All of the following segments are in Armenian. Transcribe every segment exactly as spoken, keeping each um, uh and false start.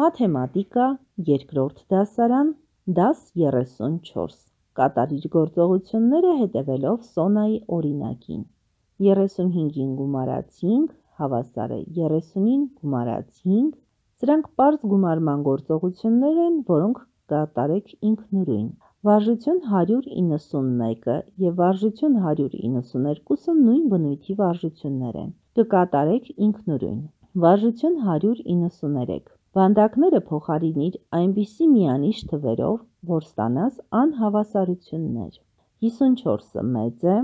Մաթեմատիկա, երկրորդ դասարան, դաս երեսունչորս, կատարիր գործողությունները հետևելով Սոնայի օրինակին, երեսունհինգին գումարած հինգ, հավասար է երեսունին գումարած հինգ, սրանք պարզ գումարման գործողություններ են, որոնք կատարեք ինքնուրույն, վարժություն հարյուր իննսունմեկը և վարժություն հարյուր իննսուներկուսը նույն բնույթի վարժություններ են, կկատարեք ինքնուրույն, վարժություն հարյուր իննսուներեք, վանդակները փոխարինիր այնպիսի միանիշ թվերով, որ ստանաս անհավասարություններ, հիսունչորսը մեծ է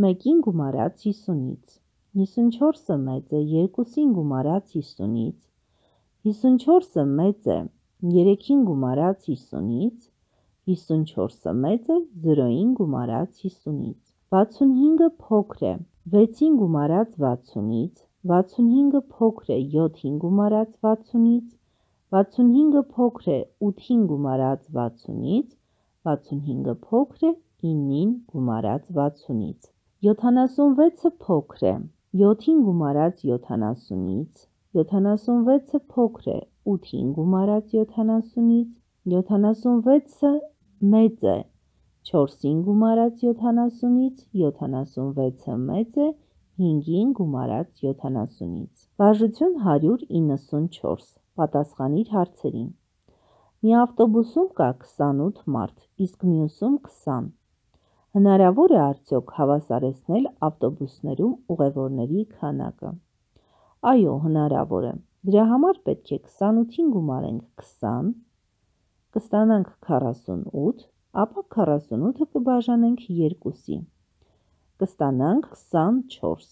մեկին գումարած հիսունից, հիսունչորսը մեծ է երկուսին գումարած հիսունից, հիսունչորսը մեծ է երեքին գումարած հիսունից, հիսունչորսը մեծ է զրոյին գումարած հիսունից, վաթսունհինգը փոքր է վեցին գումարած վաթսունից, վաթսունհինգը փոքր է յոթին գումարած վաթսունից, վաթսունհինգը փոքր է ութին գումարած վաթսունից, վաթսունհինգը փոքր է իննին գումարած վաթսունից, յոթանասունվեցը փոքր է յոթին գումարած յոթանասունից, յոթանասունվեցը փոքր է ութին գումարած յոթանասունից, յոթանասունվեցը մեծ է չորսին գումարած յոթանասունից, յոթանասունվեցը մեծ է հինգին գումարած յոթանասունից, վարժություն հարյուր իննսունչորս, պատասխանիր հարցերին, մի ավտոբուսում կա քսանութ մարդ, իսկ մյուսում քսան, հնարավոր է արդյոք հավասարեցնել ավտոբուսներում ուղևորների քանակը, այո հնարավոր է, դրա համար պետք է քսանութին գումարենք քսան, կստանանք քառասունութ, ապա քառասունութը կբաժանենք երկուսի, կստանանք քսանչորս,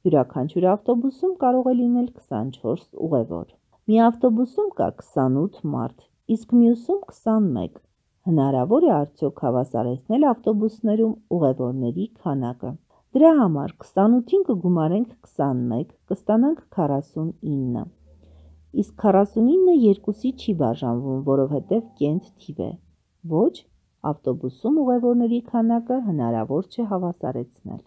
յուրաքանչյուր ավտոբուսում կարող է լինել քսանչորս ուղևոր, մի ավտոբուսում կա քսանութ մարդ, իսկ մյուսում քսանմեկ, հնարավոր է արդյոք հավասարեցնել ավտոբուսներում ուղևորների քանակը, դրա համար քսանութին կգումարենք քսանմեկ, կստանանք քառասունինը, իսկ քառասունինը երկուսի չի բաժանվում, որովհետև կենտ թիվ է, ոչ, ավտոբուսում ուղևորների քանակը հնարավոր չէ հավասարեցնել։